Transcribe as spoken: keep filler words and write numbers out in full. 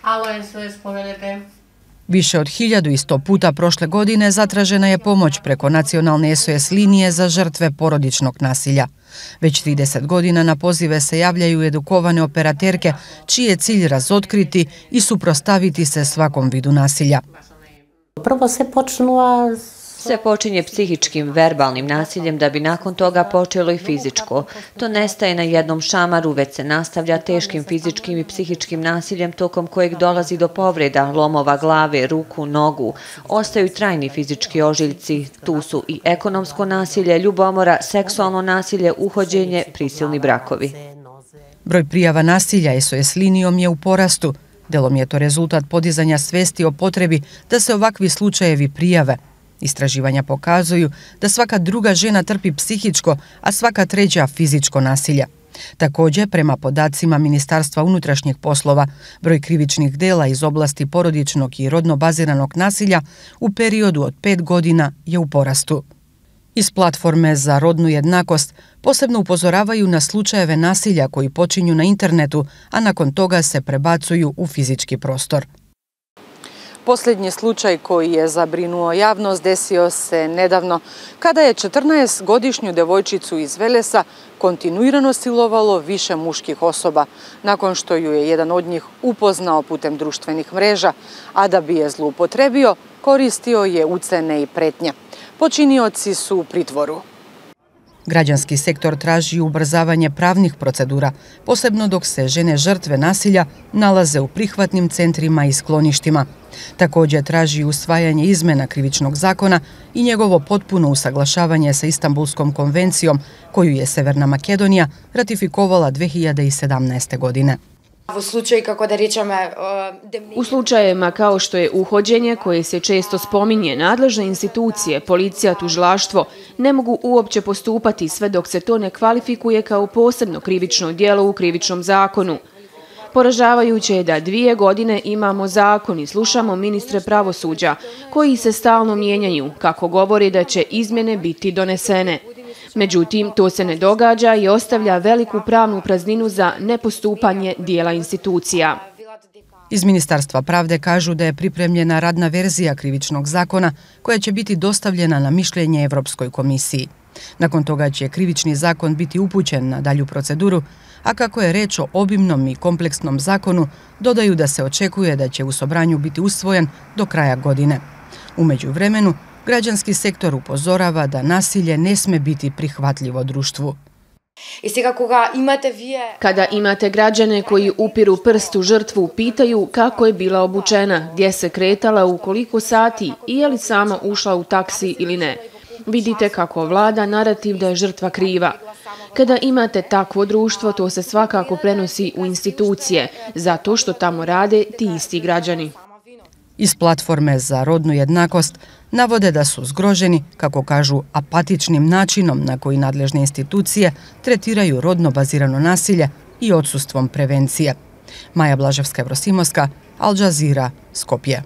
Alo S O S, povedete. Više od hiljadu i sto puta prošle godine zatražena je pomoć preko nacionalne S O S linije za žrtve porodičnog nasilja. Već trideset godina na pozive se javljaju edukovane operaterke čiji je cilj razotkriti i suprotstaviti se svakom vidu nasilja. Prvo se počnula Sve počinje psihičkim, verbalnim nasiljem da bi nakon toga počelo i fizičko. To nestaje na jednom šamaru, već se nastavlja teškim fizičkim i psihičkim nasiljem tokom kojeg dolazi do povreda, lomova glave, ruku, nogu. Ostaju trajni fizički ožiljci. Tu su i ekonomsko nasilje, ljubomora, seksualno nasilje, uhođenje, prisilni brakovi. Broj prijava nasilja S O S linijom je u porastu. Delom je to rezultat podizanja svesti o potrebi da se ovakvi slučajevi prijave. Istraživanja pokazuju da svaka druga žena trpi psihičko, a svaka treća fizičko nasilje. Također, prema podacima Ministarstva unutrašnjih poslova, broj krivičnih dela iz oblasti porodičnog i rodno baziranog nasilja u periodu od pet godina je u porastu. Iz platforme za rodnu jednakost posebno upozoravaju na slučajeve nasilja koji počinju na internetu, a nakon toga se prebacuju u fizički prostor. Posljednji slučaj koji je zabrinuo javnost desio se nedavno kada je četrnaestogodišnju devojčicu iz Velesa kontinuirano silovalo više muških osoba nakon što ju je jedan od njih upoznao putem društvenih mreža, a da bi je zloupotrebio koristio je ucene i pretnje. Počinioci su u pritvoru. Građanski sektor traži ubrzavanje pravnih procedura, posebno dok se žene žrtve nasilja nalaze u prihvatnim centrima i skloništima. Također traži usvajanje izmjena krivičnog zakona i njegovo potpuno usaglašavanje sa Istanbulskom konvencijom koju je Severna Makedonija ratifikovala dve hiljade sedamnaeste. godine. U slučajevima kao što je uhođenje, koje se često spominje, nadležne institucije, policija, tužilaštvo, ne mogu uopće postupati sve dok se to ne kvalifikuje kao posebno krivično djelo u krivičnom zakonu. Poražavajuće je da dvije godine imamo zakon i slušamo ministre pravosuđa, koji se stalno mijenjaju, kako govori da će izmjene biti donesene. Međutim, to se ne događa i ostavlja veliku pravnu prazninu za nepostupanje dijela institucija. Iz Ministarstva pravde kažu da je pripremljena radna verzija krivičnog zakona koja će biti dostavljena na mišljenje Evropskoj komisiji. Nakon toga će krivični zakon biti upućen na dalju proceduru, a kako je reč o obimnom i kompleksnom zakonu, dodaju da se očekuje da će u Sobranju biti usvojen do kraja godine. U međuvremenu, građanski sektor upozorava da nasilje ne sme biti prihvatljivo društvu. Kada imate građane koji upiru prst u žrtvu, pitaju kako je bila obučena, gdje se kretala, u koliko sati i je li sama ušla u taksi ili ne. Vidite kako vlada narativ da je žrtva kriva. Kada imate takvo društvo, to se svakako prenosi u institucije, zato što tamo rade ti isti građani. Iz platforme za rodnu jednakost navode da su zgroženi, kako kažu, apatičnim načinom na koji nadležne institucije tretiraju rodno bazirano nasilje i odsustvom prevencije. Maja Blaževska, Evrosimovska, Al Jazeera, Skopje.